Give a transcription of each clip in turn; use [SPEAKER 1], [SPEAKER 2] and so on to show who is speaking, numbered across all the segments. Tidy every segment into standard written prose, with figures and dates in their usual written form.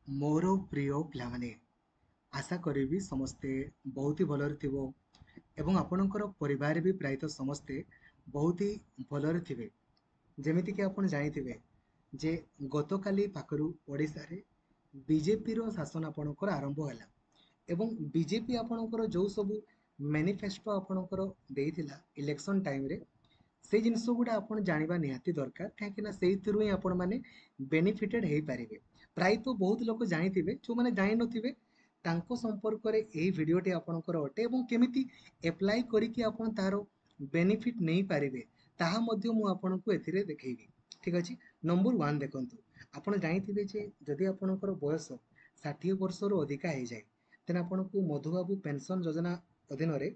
[SPEAKER 1] ମୋର ପ୍ରିୟ ପିଲାମାନେ, ଆଶା କରିବି ସମସ୍ତେ ବହୁତ ହି ଭଲରେ ଥିବ ଏବଂ ଆପଣଙ୍କର ପରିବାର ବି ପ୍ରାୟତଃ ସମସ୍ତେ ବହୁତ ହି ଭଲରେ ଥିବେ। ଯେମିତିକି ଆପଣ ଜାଣିଥିବେ ଯେ ଗତକାଲି ପାଖରୁ ଓଡ଼ିଶାରେ ବିଜେପିର ଶାସନ ଆପଣଙ୍କର ଆରମ୍ଭ ହେଲା ଏବଂ ବିଜେପି ଆପଣଙ୍କର ଯେଉଁ ସବୁ ମ୍ୟାନିଫେଷ୍ଟୋ ଆପଣଙ୍କର ଦେଇଥିଲା ଇଲେକ୍ସନ୍ ଟାଇମ୍ରେ, ସେଇ ଜିନିଷ ଗୁଡ଼ା ଆପଣ ଜାଣିବା ନିହାତି ଦରକାର, କାହିଁକିନା ସେଇଥିରୁ ହିଁ ଆପଣମାନେ ବେନିଫିଟେଡ଼ ହେଇପାରିବେ। ପ୍ରାୟତଃ ବହୁତ ଲୋକ ଜାଣିଥିବେ, ଯେଉଁମାନେ ଜାଣିନଥିବେ ତାଙ୍କ ସମ୍ପର୍କରେ ଏହି ଭିଡ଼ିଓଟି ଆପଣଙ୍କର ଅଟେ ଏବଂ କେମିତି ଆପ୍ଲାଏ କରିକି ଆପଣ ତାହାର ବେନିଫିଟ୍ ନେଇପାରିବେ ତାହା ମଧ୍ୟ ମୁଁ ଆପଣଙ୍କୁ ଏଥିରେ ଦେଖେଇବି। ଠିକ୍ ଅଛି, ନମ୍ବର 1 ଦେଖନ୍ତୁ, ଆପଣ ଜାଣିଥିବେ ଯେ ଯଦି ଆପଣଙ୍କର ବୟସ 60 ବର୍ଷରୁ ଅଧିକା ହେଇଯାଏ, ଦେନ୍ ଆପଣଙ୍କୁ ମଧୁବାବୁ ପେନ୍ସନ୍ ଯୋଜନା ଅଧୀନରେ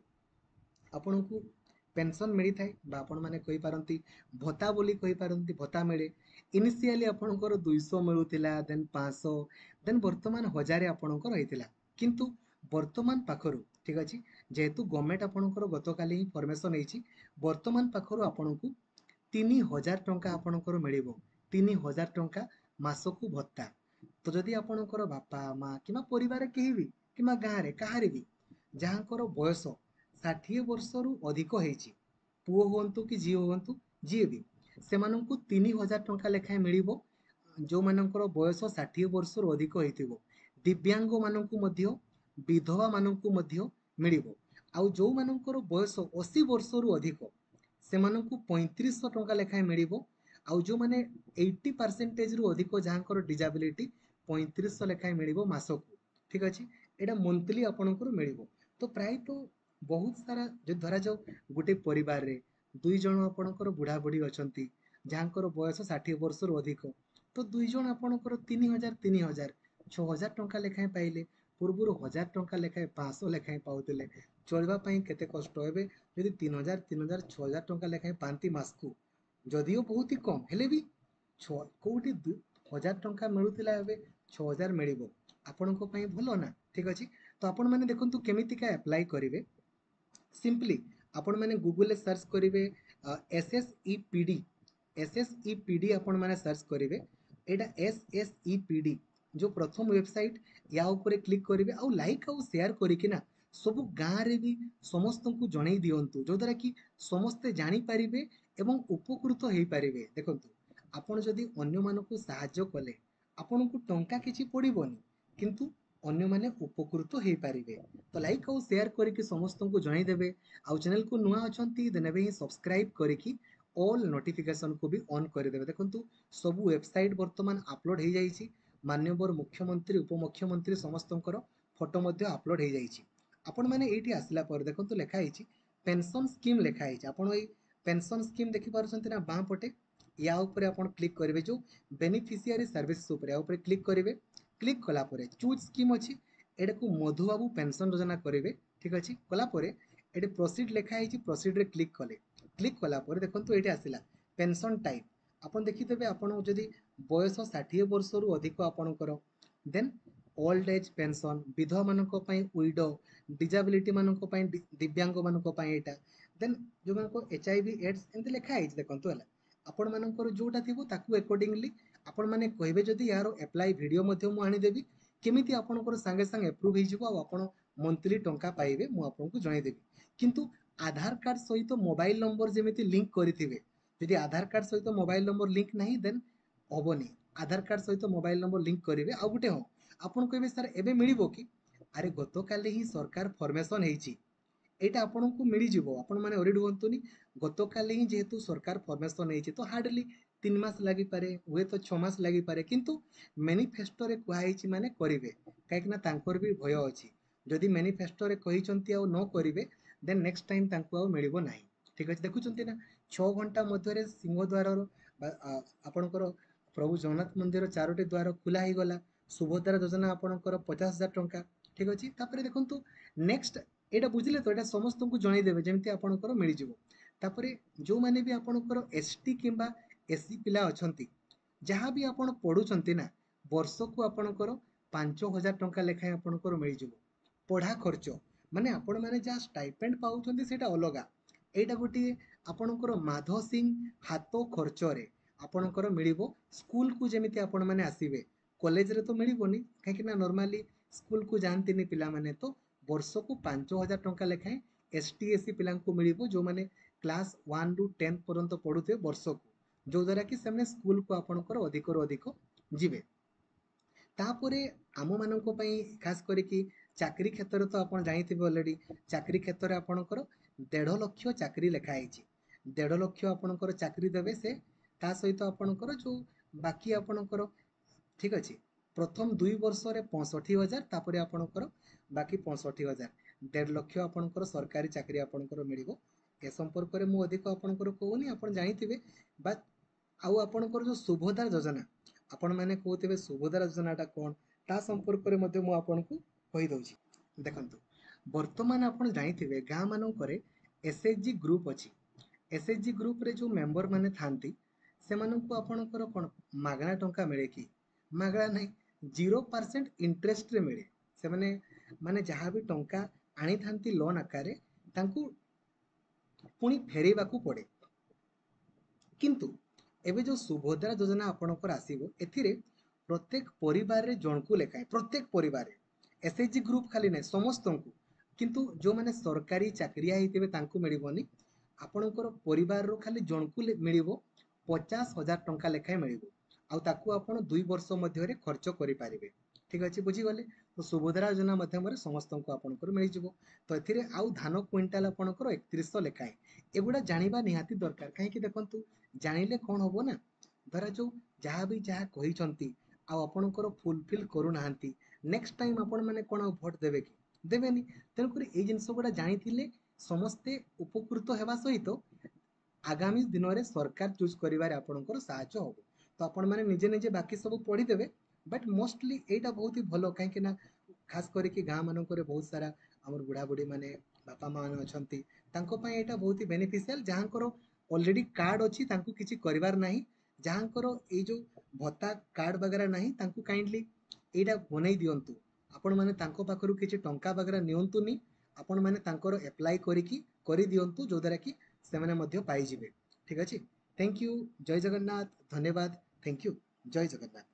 [SPEAKER 1] ଆପଣଙ୍କୁ ପେନ୍ସନ୍ ମିଳିଥାଏ, ବା ଆପଣମାନେ କହିପାରନ୍ତି ଭତ୍ତା ବୋଲି କହିପାରନ୍ତି, ଭତ୍ତା ମିଳେ। ଇନିସିଆଲି ଆପଣଙ୍କର 200 ମିଳୁଥିଲା, ଦେନ୍ 500, ଦେନ୍ ବର୍ତ୍ତମାନ 1000 ଆପଣଙ୍କର ହେଇଥିଲା। କିନ୍ତୁ ବର୍ତ୍ତମାନ ପାଖରୁ, ଠିକ୍ ଅଛି, ଯେହେତୁ ଗଭର୍ଣ୍ଣମେଣ୍ଟ ଆପଣଙ୍କର ଗତକାଲି ହିଁ ଫର୍ମେସନ୍ ହେଇଛି, ବର୍ତ୍ତମାନ ପାଖରୁ ଆପଣଙ୍କୁ 3000 ଟଙ୍କା ଆପଣଙ୍କର ମିଳିବ, 3000 ଟଙ୍କା ମାସକୁ ଭତ୍ତା। ତ ଯଦି ଆପଣଙ୍କର ବାପା ମା କିମ୍ବା ପରିବାର କେହି ବି କିମ୍ବା ଗାଁରେ କାହାରି ବି ଯାହାଙ୍କର ବୟସ 60 ବର୍ଷରୁ ଅଧିକ ହେଇଛି, ପୁଅ ହୁଅନ୍ତୁ କି ଝିଅ ହୁଅନ୍ତୁ, ଯିଏ ବି, ସେମାନଙ୍କୁ 3000 ଟଙ୍କା ଲେଖାଏଁ ମିଳିବ। ଯେଉଁମାନଙ୍କର ବୟସ 60 ବର୍ଷରୁ ଅଧିକ ହେଇଥିବ, ଦିବ୍ୟାଙ୍ଗମାନଙ୍କୁ ମଧ୍ୟ, ବିଧବାମାନଙ୍କୁ ମଧ୍ୟ ମିଳିବ। ଆଉ ଯେଉଁମାନଙ୍କର ବୟସ 80 ବର୍ଷରୁ ଅଧିକ, ସେମାନଙ୍କୁ 3500 ଟଙ୍କା ଲେଖାଏଁ ମିଳିବ। ଆଉ ଯେଉଁମାନେ 80%ରୁ ଅଧିକ ଯାହାଙ୍କର ଡିଜାବିଲିଟି, 3500 ଲେଖାଏଁ ମିଳିବ ମାସକୁ। ଠିକ୍ ଅଛି, ଏଇଟା ମନ୍ଥଲି ଆପଣଙ୍କର ମିଳିବ। ତ ପ୍ରାୟତଃ ବହୁତ ସାରା, ଯଦି ଧରାଯାଉ ଗୋଟେ ପରିବାରରେ 2 ଜଣ ଆପଣଙ୍କର ବୁଢ଼ା ବୁଢ଼ୀ ଅଛନ୍ତି ଯାହାଙ୍କର ବୟସ 60 ବର୍ଷରୁ ଅଧିକ, ତ 2 ଜଣ ଆପଣଙ୍କର 3000 3000 6000 ଟଙ୍କା ଲେଖାଏଁ ପାଇଲେ। ପୂର୍ବରୁ 1000 ଟଙ୍କା ଲେଖାଏଁ 500 ଲେଖାଏଁ ପାଉଥିଲେ, ଚଳିବା ପାଇଁ କେତେ କଷ୍ଟ। ଏବେ ଯଦି 3000 3000 6000 ଟଙ୍କା ଲେଖାଏଁ ପାଆନ୍ତି ମାସକୁ, ଯଦିଓ ବହୁତ ହି କମ୍ ହେଲେ ବି କେଉଁଠି 1000 ଟଙ୍କା ମିଳୁଥିଲା, ଏବେ 6000 ମିଳିବ, ଆପଣଙ୍କ ପାଇଁ ଭଲ ନା? ଠିକ୍ ଅଛି, ତ ଆପଣମାନେ ଦେଖନ୍ତୁ କେମିତିକା ଆପ୍ଲାଏ କରିବେ। ସିମ୍ପଲି ଆପଣମାନେ ଗୁଗୁଲରେ ସର୍ଚ୍ଚ କରିବେ S S E P D, S S E P D ଆପଣମାନେ ସର୍ଚ୍ଚ କରିବେ। ଏଇଟା S S E P D ଯେଉଁ ପ୍ରଥମ ୱେବସାଇଟ୍, ୟା ଉପରେ କ୍ଲିକ୍ କରିବେ ଆଉ ଲାଇକ୍ ଆଉ ସେୟାର କରିକିନା ସବୁ ଗାଁରେ ବି ସମସ୍ତଙ୍କୁ ଜଣେଇ ଦିଅନ୍ତୁ, ଯଦ୍ୱାରା କି ସମସ୍ତେ ଜାଣିପାରିବେ ଏବଂ ଉପକୃତ ହେଇପାରିବେ। ଦେଖନ୍ତୁ, ଆପଣ ଯଦି ଅନ୍ୟମାନଙ୍କୁ ସାହାଯ୍ୟ କଲେ ଆପଣଙ୍କୁ ଟଙ୍କା କିଛି ପଡ଼ିବନି, କିନ୍ତୁ ଅନ୍ୟମାନେ ଉପକୃତ ହେଇପାରିବେ। ତ ଲାଇକ୍ ଆଉ ସେୟାର କରିକି ସମସ୍ତଙ୍କୁ ଜଣେଇଦେବେ। ଆଉ ଚ୍ୟାନେଲକୁ ନୂଆ ଅଛନ୍ତି ଦେନ୍ ଏବେ ହିଁ ସବସ୍କ୍ରାଇବ୍ କରିକି ଅଲ୍ ନୋଟିଫିକେସନ୍କୁ ବି ଅନ୍ କରିଦେବେ। ଦେଖନ୍ତୁ, ସବୁ ୱେବସାଇଟ୍ ବର୍ତ୍ତମାନ ଆପଲୋଡ଼ ହେଇଯାଇଛି, ମାନ୍ୟବର ମୁଖ୍ୟମନ୍ତ୍ରୀ, ଉପମୁଖ୍ୟମନ୍ତ୍ରୀ ସମସ୍ତଙ୍କର ଫଟୋ ମଧ୍ୟ ଆପଲୋଡ଼ ହେଇଯାଇଛି। ଆପଣମାନେ ଏଇଠି ଆସିଲା ପରେ ଦେଖନ୍ତୁ ଲେଖା ହେଇଛି ପେନ୍ସନ୍ ସ୍କିମ୍ ଲେଖା ହେଇଛି। ଆପଣ ଏଇ ପେନ୍ସନ୍ ସ୍କିମ୍ ଦେଖିପାରୁଛନ୍ତି ନା ବାଁ ପଟେ, ୟା ଉପରେ ଆପଣ କ୍ଲିକ୍ କରିବେ, ଯେଉଁ ବେନିଫିସିଆରୀ ସର୍ଭିସେସ୍ ଉପରେ, ୟା ଉପରେ କ୍ଲିକ୍ କରିବେ। କ୍ଲିକ୍ କଲା ପରେ ଚୁଜ୍ ସ୍କିମ୍ ଅଛି, ଏଟାକୁ ମଧୁବାବୁ ପେନ୍ସନ୍ ଯୋଜନା କରିବେ। ଠିକ୍ ଅଛି, କଲା ପରେ ଏଠି ପ୍ରୋସିଡ୍ ଲେଖା ହେଇଛି, ପ୍ରୋସିଡ୍ରେ କ୍ଲିକ୍ କଲେ, କ୍ଲିକ୍ କଲା ପରେ ଦେଖନ୍ତୁ ଏଇଠି ଆସିଲା ପେନ୍ସନ୍ ଟାଇପ୍। ଆପଣ ଦେଖିଦେବେ, ଆପଣ ଯଦି ବୟସ 60 ବର୍ଷରୁ ଅଧିକ ଆପଣଙ୍କର, ଦେନ୍ ଓଲ୍ଡ ଏଜ୍ ପେନ୍ସନ୍, ବିଧବାମାନଙ୍କ ପାଇଁ ୱିଡୋ, ଡିଜାବିଲିଟି ମାନଙ୍କ ପାଇଁ, ଦିବ୍ୟାଙ୍ଗମାନଙ୍କ ପାଇଁ ଏଇଟା, ଦେନ୍ ଯେଉଁମାନଙ୍କ ଏଚ୍ I V AIDS ଏମିତି ଲେଖା ହେଇଛି। ଦେଖନ୍ତୁ ହେଲା, ଆପଣମାନଙ୍କର ଯେଉଁଟା ଥିବ ତାକୁ ଆକର୍ଡ଼ିଂଲି ଆପଣମାନେ କହିବେ। ଯଦି ଏହାର ଆପ୍ଲାଏ ଭିଡ଼ିଓ ମଧ୍ୟ ମୁଁ ଆଣିଦେବି, କେମିତି ଆପଣଙ୍କର ସାଙ୍ଗେ ସାଙ୍ଗେ ଆପ୍ରୁଭ୍ ହେଇଯିବ ଆଉ ଆପଣ ମନ୍ଥଲି ଟଙ୍କା ପାଇବେ, ମୁଁ ଆପଣଙ୍କୁ ଜଣାଇଦେବି। କିନ୍ତୁ ଆଧାର କାର୍ଡ଼ ସହିତ ମୋବାଇଲ ନମ୍ବର ଯେମିତି ଲିଙ୍କ କରିଥିବେ, ଯଦି ଆଧାର କାର୍ଡ଼ ସହିତ ମୋବାଇଲ ନମ୍ବର ଲିଙ୍କ ନାହିଁ ଦେନ୍ ହେବନି। ଆଧାର କାର୍ଡ଼ ସହିତ ମୋବାଇଲ ନମ୍ବର ଲିଙ୍କ କରିବେ। ଆଉ ଗୋଟେ, ହଁ, ଆପଣ କହିବେ ସାର୍ ଏବେ ମିଳିବ କି? ଆରେ ଗତକାଲି ହିଁ ସରକାର ଫର୍ମେସନ୍ ହେଇଛି, ଏଇଟା ଆପଣଙ୍କୁ ମିଳିଯିବ, ଆପଣମାନେ ୱରିଡ୍ ହୁଅନ୍ତୁନି। ଗତକାଲି ହିଁ ଯେହେତୁ ସରକାର ଫର୍ମେସନ୍ ହେଇଛି, ତ ହାର୍ଡ଼ଲି 3 ମାସ ଲାଗିପାରେ, ହୁଏତ 6 ମାସ ଲାଗିପାରେ, କିନ୍ତୁ ମ୍ୟାନିଫେଷ୍ଟୋରେ କୁହାହେଇଛି ମାନେ କରିବେ, କାହିଁକିନା ତାଙ୍କର ବି ଭୟ ଅଛି। ଯଦି ମ୍ୟାନିଫେଷ୍ଟୋରେ କହିଛନ୍ତି ଆଉ ନ କରିବେ, ଦେନ୍ ନେକ୍ସଟ ଟାଇମ୍ ତାଙ୍କୁ ଆଉ ମିଳିବ ନାହିଁ। ଠିକ୍ ଅଛି, ଦେଖୁଛନ୍ତି ନା 6 ଘଣ୍ଟା ମଧ୍ୟରେ ସିଂହଦ୍ୱାରର ବା ଆପଣଙ୍କର ପ୍ରଭୁ ଜଗନ୍ନାଥ ମନ୍ଦିର 4ଟି ଦ୍ୱାର ଖୋଲା ହେଇଗଲା। ସୁଭଦ୍ରା ଯୋଜନା ଆପଣଙ୍କର 50,000 ଟଙ୍କା। ଠିକ୍ ଅଛି, ତାପରେ ଦେଖନ୍ତୁ ନେକ୍ସଟ, ଏଇଟା ବୁଝିଲେ ତ, ଏଇଟା ସମସ୍ତଙ୍କୁ ଜଣେଇଦେବେ ଯେମିତି ଆପଣଙ୍କର ମିଳିଯିବ। ତାପରେ ଯେଉଁମାନେ ବି ଆପଣଙ୍କର ଏସ୍ ଟି କିମ୍ବା ଏସ୍ ସି ପିଲା ଅଛନ୍ତି, ଯାହା ବି ଆପଣ ପଢ଼ୁଛନ୍ତି ନା, ବର୍ଷକୁ ଆପଣଙ୍କର 5000 ଟଙ୍କା ଲେଖାଏଁ ଆପଣଙ୍କର ମିଳିଯିବ ପଢ଼ା ଖର୍ଚ୍ଚ। ମାନେ ଆପଣମାନେ ଯାହା ଷ୍ଟାଇପେଣ୍ଡ ପାଉଛନ୍ତି ସେଇଟା ଅଲଗା, ଏଇଟା ଗୋଟିଏ ଆପଣଙ୍କର ମାଧ ସିଂ ହାତ ଖର୍ଚ୍ଚରେ ଆପଣଙ୍କର ମିଳିବ। ସ୍କୁଲକୁ ଯେମିତି ଆପଣମାନେ ଆସିବେ, କଲେଜରେ ତ ମିଳିବନି, କାହିଁକିନା ନର୍ମାଲି ସ୍କୁଲକୁ ଯାଆନ୍ତିନି ପିଲାମାନେ। ତ ବର୍ଷକୁ 5000 ଟଙ୍କା ଲେଖାଏଁ ଏସ୍ ଟି ଏସ୍ ସି ପିଲାଙ୍କୁ ମିଳିବ, ଯେଉଁମାନେ କ୍ଲାସ୍ 1ରୁ 10 ପର୍ଯ୍ୟନ୍ତ ପଢ଼ୁଥିବେ ବର୍ଷକୁ, ଯେଉଁଦ୍ୱାରା କି ସେମାନେ ସ୍କୁଲକୁ ଆପଣଙ୍କର ଅଧିକରୁ ଅଧିକ ଯିବେ। ତାପରେ ଆମମାନଙ୍କ ପାଇଁ ଖାସ କରିକି ଚାକିରି କ୍ଷେତ୍ରରେ ତ ଆପଣ ଜାଣିଥିବେ ଅଲରେଡ଼ି, ଚାକିରି କ୍ଷେତ୍ରରେ ଆପଣଙ୍କର 1.5 ଲକ୍ଷ ଚାକିରି ଲେଖା ହେଇଛି। 1.5 ଲକ୍ଷ ଆପଣଙ୍କର ଚାକିରି ଦେବେ ସେ। ତା ସହିତ ଆପଣଙ୍କର ଯେଉଁ ବାକି ଆପଣଙ୍କର, ଠିକ୍ ଅଛି, ପ୍ରଥମ 2 ବର୍ଷରେ 65,000, ତାପରେ ଆପଣଙ୍କର ବାକି 65,000, 1.5 ଲକ୍ଷ ଆପଣଙ୍କର ସରକାରୀ ଚାକିରି ଆପଣଙ୍କର ମିଳିବ। ଏ ସମ୍ପର୍କରେ ମୁଁ ଅଧିକ ଆପଣଙ୍କର କହୁନି, ଆପଣ ଜାଣିଥିବେ। ବା ଆଉ ଆପଣଙ୍କର ଯେଉଁ ସୁଭଦ୍ରା ଯୋଜନା, ଆପଣମାନେ କହୁଥିବେ ସୁଭଦ୍ରା ଯୋଜନାଟା କ'ଣ, ତା ସମ୍ପର୍କରେ ମଧ୍ୟ ମୁଁ ଆପଣଙ୍କୁ କହିଦେଉଛି। ଦେଖନ୍ତୁ, ବର୍ତ୍ତମାନ ଆପଣ ଜାଣିଥିବେ ଗାଁ ମାନଙ୍କରେ ଏସ୍ ଏଚ୍ ଜି ଗ୍ରୁପ୍ ଅଛି। ଏସ୍ ଏଚ୍ ଜି ଗ୍ରୁପ୍ରେ ଯେଉଁ ମେମ୍ବର ମାନେ ଥାନ୍ତି, ସେମାନଙ୍କୁ ଆପଣଙ୍କର କ'ଣ ମାଗଣା ଟଙ୍କା ମିଳେ କି? ମାଗଣା ନାହିଁ, 0% ଇଣ୍ଟରେଷ୍ଟରେ ମିଳେ। ସେମାନେ ମାନେ ଯାହା ବି ଟଙ୍କା ଆଣିଥାନ୍ତି ଲୋନ୍ ଆକାରରେ, ତାଙ୍କୁ ପୁଣି ଫେରେଇବାକୁ ପଡ଼େ। କିନ୍ତୁ ଏବେ ଯେଉଁ ସୁଭଦ୍ରା ଯୋଜନା ଆପଣଙ୍କର ଆସିବ, ଏଥିରେ ପ୍ରତ୍ୟେକ ପରିବାରରେ ଜଣକୁ ଲେଖାଏଁ, ପ୍ରତ୍ୟେକ ପରିବାରରେ, ଏସ୍ ଏଚ୍ ଜି ଗ୍ରୁପ୍ ଖାଲି ନାହିଁ, ସମସ୍ତଙ୍କୁ, କିନ୍ତୁ ଯେଉଁମାନେ ସରକାରୀ ଚାକିରିଆ ହେଇଥିବେ ତାଙ୍କୁ ମିଳିବନି। ଆପଣଙ୍କର ପରିବାରରୁ ଖାଲି ଜଣକୁ ମିଳିବ, 50,000 ଟଙ୍କା ଲେଖାଏଁ ମିଳିବ, ଆଉ ତାକୁ ଆପଣ 2 ବର୍ଷ ମଧ୍ୟରେ ଖର୍ଚ୍ଚ କରିପାରିବେ। ଠିକ୍ ଅଛି, ବୁଝିଗଲେ? ତ ସୁଭଦ୍ରା ଯୋଜନା ମାଧ୍ୟମରେ ସମସ୍ତଙ୍କୁ ଆପଣଙ୍କର ମିଳିଯିବ। ତ ଏଥିରେ ଆଉ ଧାନ କୁଇଣ୍ଟାଲ ଆପଣଙ୍କର 3100 ଲେଖାଏଁ। ଏଗୁଡ଼ା ଜାଣିବା ନିହାତି ଦରକାର। କାହିଁକି ଦେଖନ୍ତୁ, ଜାଣିଲେ କ'ଣ ହବ ନା, ଧରା ଯୋଉ ଯାହା ବି ଯାହା କହିଛନ୍ତି ଆଉ ଆପଣଙ୍କର ଫୁଲଫିଲ୍ କରୁନାହାନ୍ତି, ନେକ୍ସଟ ଟାଇମ୍ ଆପଣମାନେ କ'ଣ ଆଉ ଭୋଟ ଦେବେ କି? ଦେବେନି। ତେଣୁକରି ଏଇ ଜିନିଷ ଗୁଡ଼ା ଜାଣିଥିଲେ ସମସ୍ତେ ଉପକୃତ ହେବା ସହିତ ଆଗାମୀ ଦିନରେ ସରକାର ଚୁଜ୍ କରିବାରେ ଆପଣଙ୍କର ସାହାଯ୍ୟ ହେବ। ତ ଆପଣମାନେ ନିଜେ ନିଜେ ବାକି ସବୁ ପଢ଼ିଦେବେ, ବଟ୍ ମୋଷ୍ଟଲି ଏଇଟା ବହୁତ ହି ଭଲ, କାହିଁକି ନା ଖାସ କରିକି ଗାଁ ମାନଙ୍କରେ ବହୁତ ସାରା ଆମର ବୁଢ଼ାବୁଢ଼ୀ ମାନେ, ବାପା ମା ମାନେ ଅଛନ୍ତି, ତାଙ୍କ ପାଇଁ ଏଇଟା ବହୁତ ହି ବେନିଫିସିଆଲ। ଯାହାଙ୍କର ଅଲରେଡ଼ି କାର୍ଡ଼ ଅଛି ତାଙ୍କୁ କିଛି କରିବାର ନାହିଁ। ଯାହାଙ୍କର ଏଇ ଯେଉଁ ଭତ୍ତା କାର୍ଡ଼ ବଗେରା ନାହିଁ, ତାଙ୍କୁ କାଇଣ୍ଡଲି ଏଇଟା ବନେଇ ଦିଅନ୍ତୁ। ଆପଣମାନେ ତାଙ୍କ ପାଖରୁ କିଛି ଟଙ୍କା ବଗେରା ନିଅନ୍ତୁନି, ଆପଣମାନେ ତାଙ୍କର ଆପ୍ଲାଏ କରିକି କରିଦିଅନ୍ତୁ, ଯେଉଁଦ୍ୱାରା କି ସେମାନେ ମଧ୍ୟ ପାଇଯିବେ। ଠିକ୍ ଅଛି, thank you, ଜୟ ଜଗନ୍ନାଥ, ଧନ୍ୟବାଦ, thank you, Jay Jagannath.